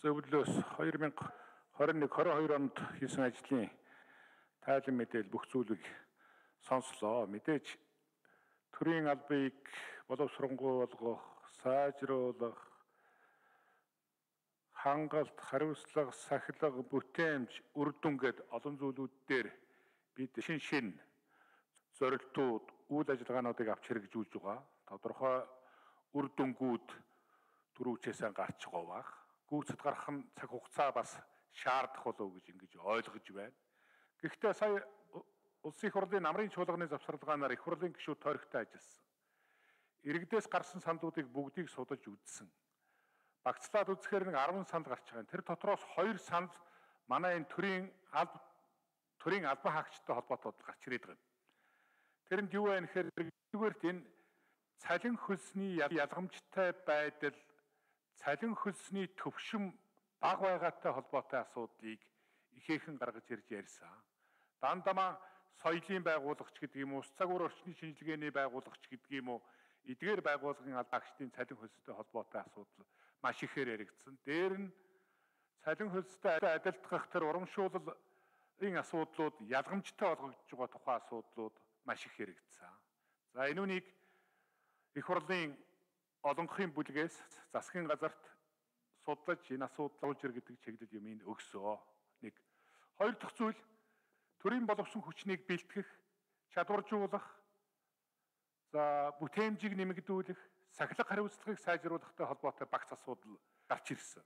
зөвлөлөөс 2021-22 онд хийсэн ажлын тайлан мэдээлэл бүх зүйлийг сонслоо. Мэдээж төрийн албыг боловсронгуй сайжруулах, хангалт, хариуцлага, сахилга, бүтээмж, үр дүн гэд олон зүйлүүд дээр бид шин зорилтууд, үйл ажиллагаануудыг авч хэрэгжүүлж байгаа. Тодорхой үр дүнгууд түрүүчээсээ гарч байгаа бах. Гүйцэд гарах нь цаг хугацаа бас шаардах болов гэж ингэж ойлгож байна. Гэхдээ сая Улсын их хурлын намрын чуулганы завсарлагаанаар их хурлын гишүүд тойрогтой ажилласан. Иргэдээс гарсан сандуудыг бүгдийг судалж үзсэн. Багцлаад үзэхээр нэг 10 санд гарч байгаа. Тэр дотроос 2 санд манай энэ төрийн албан хаагчтай холбоотой гарч ирээд байгаа. Тэрэнд юу вэ гэхээр нэгдүгээрт энэ цалин хөлсний ялгамжтай байдал, цалин хөлсний төвшин бага байгаатай холбоотой асуудлыг ихээхэн гаргаж ирж ярьсан. Дандаа соёлын байгуулагч гэдэг юм уу, ус цагуур орчны шинжилгээний байгуулагч гэдэг юм уу, эдгээр байгууллагын албаагчдын цалин хөлстэй холбоотой асуудал маш ихээр яригдсан. Дээр нь цалин хөлстэй адилтгах тэр урамшууллын асуудлууд ялгамжтай болгогдож байгаа тухайн асуудлууд маш их яригдсан. За энэ үнийг их хурлын олонхын бүлгээс засгийн газарт судлаж энэ асуудал олж ир гэдэг чиглэл юмыг өгсөө. Нэг. Хоёр дахь зүйл төрийн боловсон хүчнийг бэлтгэх, чадваржуулах, за бүтээмжийг нэмэгдүүлэх, сахилга хариуцлагыг сайжруулахтай холбоотой багц асуудал гарч ирсэн.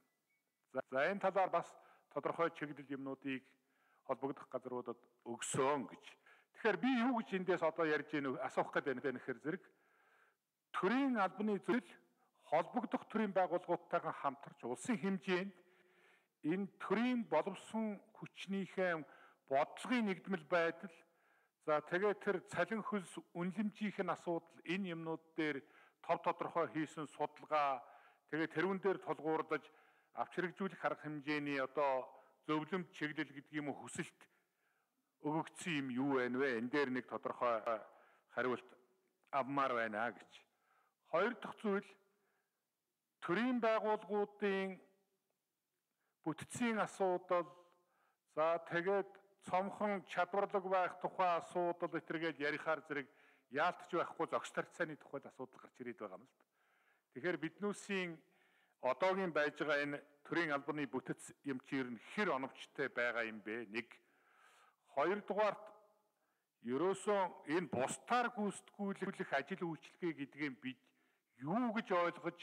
За энэ талаар бас тодорхой чиглэл юмнуудыг холбогдох газруудад өгсөн гэж. Тэгэхээр би юу гэж эндээс одоо ярьж ийн асуух гэдэг нь гэхээр зэрэг төрийн албаны зүйл холбогдох төрийн байгууллагуудтайгаа хамтарч улсын хэмжээнд энэ төрийн боловсон хүчнийхээ бодлогын нэгдмэл байдал, за тэгээд тэр цалин хөлс үнэлэмжийн асуудал, энэ юмнууд дээр тов тодорхой хийсэн судалгаа, тэгээд тэрүүн дээр тулгуурлаж авч хэрэгжүүлэх арга хэмжээний одоо зөвлөмж чиглэл гэдэг юм уу хүсэлт өгөгдсөн юм юу вэ? Энэ дээр нэг тодорхой хариулт авмаар байна гэж. Хоёр дахь зүйл төрийн байгууллагуудын бүтцийн асуудал, за тэгээд цомхон чадварлаг байх тухай асуудал этергээл ярихаар зэрэг яалтч байхгүй зохис тарцааны тухайд асуудал гарч ирээд байгаа юм л да. Тэгэхээр биднүүсийн одоогийн байж байгаа энэ төрийн албаны бүтэц юм чи ер нь хэр оновчтой байгаа юм бэ? Нэг. Хоёрдугаарт ерөөсөө энэ бусдаар гүйцэтгүүлэх ажил үйлчилгээ гэдгийг бид юу гэж ойлгож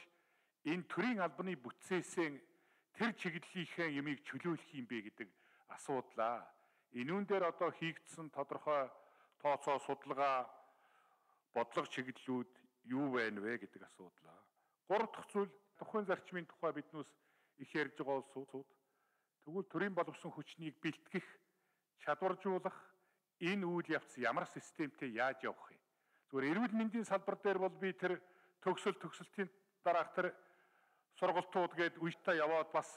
энэ төрийн албаны бүтцээсээ тэр чиглэлийнхээ юмыг чөлөөлөх юм бэ гэдэг асуудлаа. Энүүн дээр одоо хийгдсэн тодорхой тооцоо судалгаа бодлого чиглэлүүд юу байна вэ гэдэг асуудлаа. Гурав дахь зүйл тухайн зарчмын тухай биднээс их ярьж байгаа улсууд тэгвэл төрийн боловсон хүчнийг бэлтгэх, чадваржуулах энэ үйл явц ямар системтэй яаж явах вэ? Зүгээр эрүүл мэндийн салбар дээр бол би тэр төгсөлтийн дараах тэр сургалтууд гээд үедээ яваад бас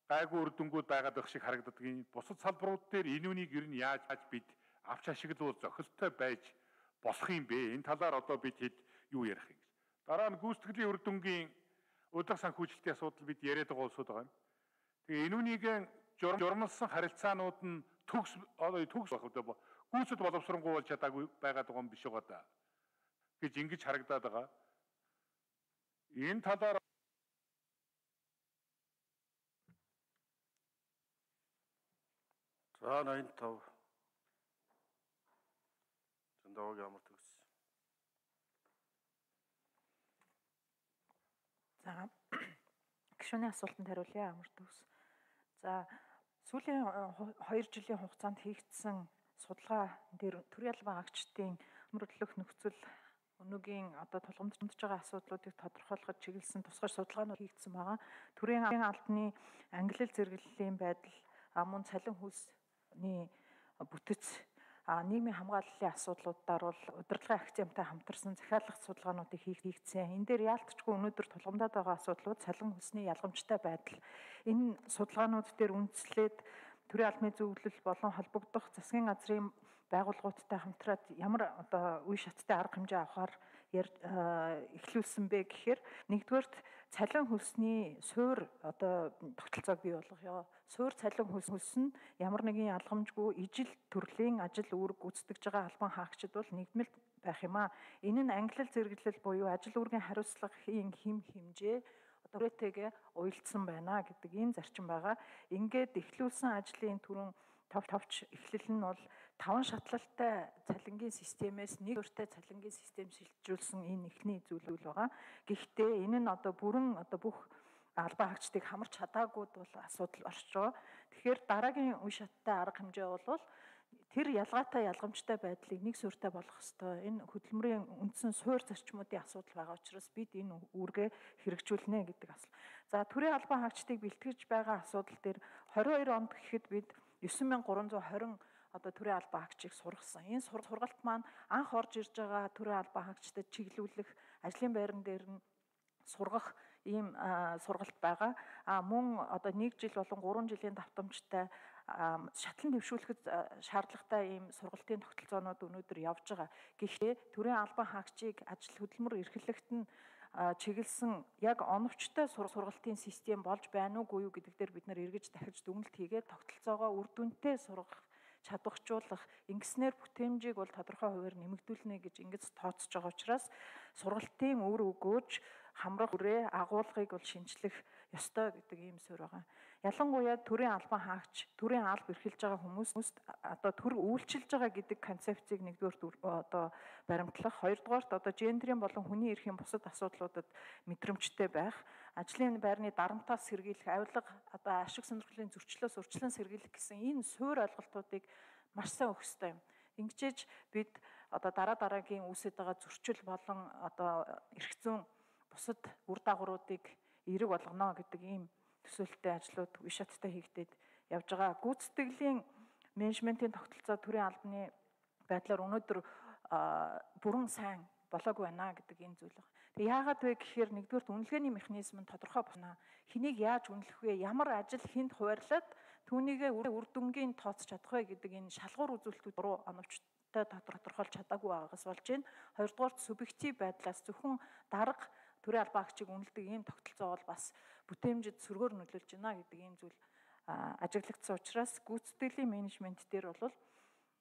гайгүй үр дүнгууд байгаад байх шиг харагддаг. Бусад салбарууд дээр энэ үнийг ер нь яаж бид авч ашиглуул зохистой байж болох юм бэ? Энэ талаар одоо бид хэд юу ярих юм гэж. Дараа нь гүйцэтгэлийн үр дүнгийн өдөр санхүүжилтийн асуудал бид яриад байгаа улсууд байгаа юм. Тэгээ энэ үнийг журмалсан харилцаанууд нь төгс байх одоо гүйцэд боловсронгуй болж чадаагүй байгаад байгаа юм биш байгаа да гэж ингэж харагдаад байгаа. Энэ талаар за 85 Зэндаог ямар төгс. За гишүүний асуултанд хариулъя амар төгс. За сүүлийн 2 жилийн хугацаанд хийгдсэн судалгаа дээр төрийн албан хаагчдын мөрөдлөх нөхцөл өнөөгийн одоо тулгамдж байгаа асуудлуудыг тодорхойлоход чиглэсэн тусгай судалгаанууд хийгдсэн байгаа. Төрийн албаны ангилал зэрэглэлийн байдал, мөн цалин хөлсний бүтэц, нийгмийн хамгааллын асуудлуудаар бол удирдлагын акценттай хамтарсан захиалгах судалгаануудыг хийгдсэн. Энэ дээр яалтчгүй өнөөдөр тулгамдаад байгаа асуудлууд цалин хөлсний ялгамжтай байдал. Энэ судалгаанууд дээр үндэслээд төрийн албаны зөвлөл болон холбогдох засгийн газрын байгууллагуудтай хамтраад ямар одоо үе шаттай арга хэмжээ авахар эхлүүлсэн бэ гэхээр нэгдүгээрт цалин хөлсний суур одоо тогтолцоог бий болгох. Суур цалин хөлс нь ямар нэгэн ялгамжгүй ижил төрлийн ажил үүрэг гүйцэтгэж байгаа албан хаагчид бол нэгдмэл байх юм аа. Энэ нь ангилал зэрэглэл буюу ажил үүргийн хариуцлагын хэмжээ түрээтэйгээ уялдсан байна гэдэг энэ зарчим байгаа. Ингээд эхлүүлсэн ажлын түрүүн товч эхлэл нь бол 5 шатлалтай цалингийн системээс нэг өртөө цалингийн систем шилжүүлсэн энэ эхний зүйл байгаа. Гэхдээ энэ нь бүрэн бүх албан хаагчдыг хамарч чадаагүйд бол асуудал орж байгаа. Тэгэхээр дараагийн үе шаттай арга хэмжээ бол тэр ялгаатай ялгамжтай байдлыг нэг суурьтай болгох ёстой. Энэ хөдөлмөрийн үндсэн суур зарчмуудын асуудал байгаа учраас бид энэ үүргээ хэрэгжүүлнэ гэдэг асуулт. За төрийн албан хаагчдыг бэлтгэж байгаа асуудал дээр 22 онд гэхэд бид 9320 төрийн албан хаагчийг сургасан. Энэ сургалт маань анх орж ирж байгаа төрийн албан хаагчдад чиглүүлэх ажлын байран дээр нь сургах ийм сургалт байгаа. Мөн 1 жил болон 3 жилийн давтамжтай шатлан дэвшүүлэхэд шаардлагатай ийм сургалтын тогтолцоонууд өнөөдөр явж байгаа. Гэхдээ төрийн албан хаагчийг ажил хөдөлмөр эрхлэлт нь чиглэсэн яг оновчтой сургалтын систем болж байна уугүй юу гэдэг дээр бид нар эргэж дахиж дүгнэлт хийгээд тогтолцоогоо үр дүнтэй сургах чадваржуулах ингэснээр бүтээмжийг бол тодорхой хувиар нэмэгдүүлнэ гэж ингэж тооцож байгаа учраас сургалтын үр өгөөж хамрах үрээ агуулгыг бол шинжлэх ёстой гэдэг ийм суурь байгаа. Ялангуяа төрийн албан хаагч, төрийн алба эрхэлж байгаа хүмүүст төр үйлчилж байгаа гэдэг концепцийг нэгдүгээр баримтлах, хоёрдугаарт гендрийн болон хүний эрхийн бусад асуудлуудад мэдрэмжтэй байх, ажлын байрны дарамтаас сэргийлэх, авилга ашиг сонирхлын зөрчлөөс урьдчилан сэргийлэх гэсэн энэ суурь ойлголтуудыг маш сайн өгөх ёстой юм. Ингэжээж бид дараагийн үүсэж байгаа зөрчил болон эрх зүйн бусад үр дагавруудыг эерэг болгоно гэдэг ийм төсөөлттэй ажлууд үе шаттай хийгдээд явж байгаа. Гүйцэтгэлийн менежментийн тогтолцоо төрийн албаны байдлаар өнөөдөр бүрэн сайн болоогүй байна гэдэг энэ зүйл байна. Тэгээ яагаад вэ гэхээр нэгдүгээр үнэлгээний механизм нь тодорхой байна. Хэнийг яаж үнэлэх вэ? Ямар ажил хүнд хуваарлаад түүнийгээ үр дүнгийн тооцож чадах вэ гэдэг энэ шалгуур үзүүлэлтүүд руу оновчтой тодорхойлж чадаагүй байгаагаас болж байна. Хоёрдугаарт субъектив байдлаас зөвхөн дарга төрийн албан хаагчийг үнэлдэг ийм тогтолцоо бол бас бүтээмжид сөргөөр нөлөөлж байна гэдэг ийм зүйл ажиглагдсан учраас гүйцэтгэлийн менежмент дээр бол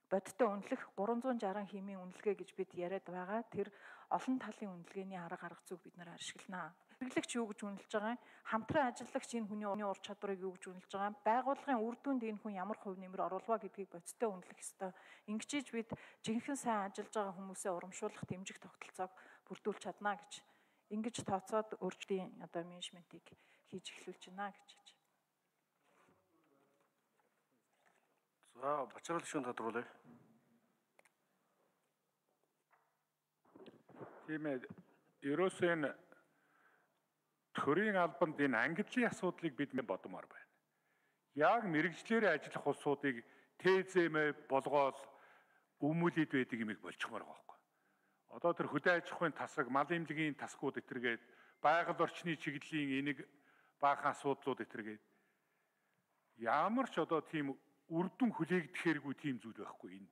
бодиттой үнэлэх 360 хэмийн үнэлгээ гэж бид яриад байгаа. Тэр олон талын үнэлгээний арга зүйг бид нар ашиглана. Хэрэглэгч юу гэж үнэлж байгаа юм? Хамтран ажиллагч энэ хүний ур чадварыг юу гэж үнэлж байгаа юм? Байгууллагын үр дүнд энэ хүн ямар хувь нэмэр оруулаа гэдгийг бодиттой үнэлэх ёстой. Ингэжээж бид жинхэнэ сайн ажиллаж байгаа хүмүүсээ урамшуулах дэмжих тогтолцоог бүрдүүлж чадна гэж ингэж тооцоод өөрчлөлийн менежментийг хийж эхлүүлж байна гэж хэлж. За бачарал гишүүн тодруулъя. Тийм ээ. Ерөөсөө энэ төрийн албанд энэ ангиллын асуудлыг бид бодмоор байна. Яг мэрэгжлэрээ ажиллах улсуудыг ТЗМ болгоод өмүүлээд байдаг юм болчихмоор байгаа байхгүй. Одоо тэр хөдөө аж ахуйн тасаг, мал эмнэлгийн тасгууд этэргээд, байгаль орчны чиглэлийн энийг баахан асуудлууд этэргээд ямар ч тийм үр дүн хүлээгдэхэргүй тийм зүйл байхгүй энэ.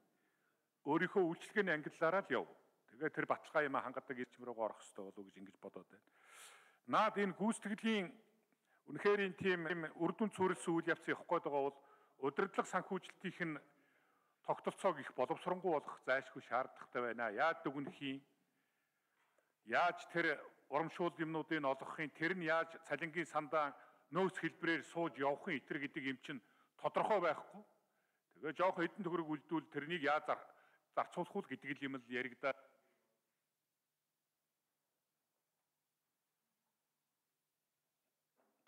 Өөрийнхөө үйлчлэгээний ангиллаараа л яв. Тэгээ тэр баталгаа юм хангадаг ирчим рүү орох хэрэгтэй болов уу гэж ингэж бодоод байна. Наад энэ гүйцэтгэлийн үнэхээр энэ тийм үр дүн цүүрэлсэн үйл явц явах гээд байгаа бол удирдлага санхүүжилтийнх нь тогтолцоог их боловсронгуй болгох зайлшгүй шаардлагатай байна. Яаж дүгнэх юм? Яаж тэр урамшуул юмнуудыг олгохын, тэр нь яаж цалингийн сандаа нөөц хэлбэрээр сууж явахын итэр гэдэг юм чинь тодорхой байхгүй. Тэгээ жоох хэдэн төгрөг үлдвэл тэрнийг яаж зарцуулах уу гэдэг юм л яригдаа.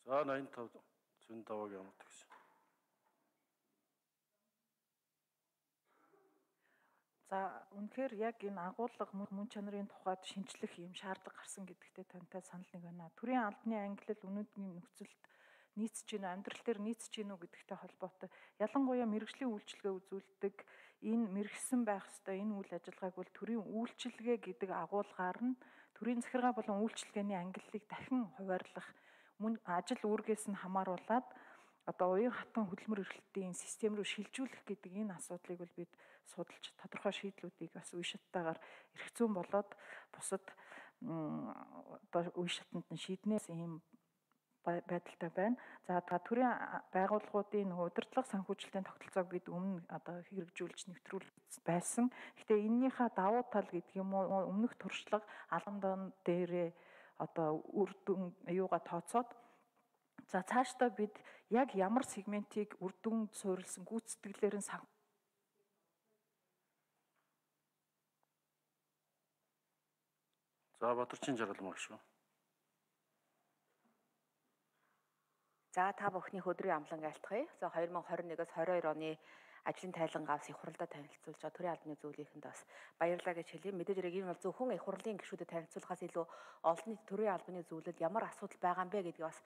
За 85 зүүн давааг ямар гэсэн. За үнэхээр яг энэ агуулга мөн чанарын тухайд шинжлэх юм шаардлага гарсан гэдэгтээ тантай санал нэг байна. Төрийн албаны ангиллал өнөөдрийн нөхцөлд нийцж гин амьдрал дээр нийцж гин үү гэдэгтэй холбоотой. Ялангуяа мэрэгжлийн үйлчилгээ үзүүлдэг энэ мэрэгсэн байх ёстой энэ үйл ажиллагааг бол төрийн үйлчилгээ гэдэг агуулгаар нь төрийн захиргаа болон үйлчилгээний ангиллалыг дахин хуваарлах мөн ажил үүргээс нь хамааруулад одоо уян хатан хөдөлмөр эрхлэлтийн систем рүү шилжүүлэх гэдэг энэ асуудлыг бол бид судалж тодорхой шийдлүүдийг бас үе шаттайгаар эрх зүйн болоод бусад одоо үе шатанд нь шийднээс ийм байдалтай байна. За төрийн байгууллагуудын удирдлага санхүүжилтийн тогтолцоог бид өмнө одоо хэрэгжүүлж нэвтрүүлж байсан. Гэхдээ эннийхээ давуу тал гэдэг юм уу өмнөх туршлага албан дээрээ одоо үр дүн юугаа тооцоод за цаашдаа бид яг ямар сегментийг үр дүн суурилсан гүйцэтгэлээр нь За Бадарчин Жаргалмаа шүү. За та бүхний өдрийн амлан айлтгая. За 2021-с 22 оны ажлын тайлангаа бас их хурлаа танилцуулж байгаа төрийн албаны зөвлөлийнхэнд бас баярлалаа гэж хэлье. Мэдээж хэрэг энэ бол зөвхөн их хурлын гишүүдэд танилцуулахаас илүү олон нийт төрийн албаны зөвлөлд ямар асуудал байгаа юм бэ гэдгийг бас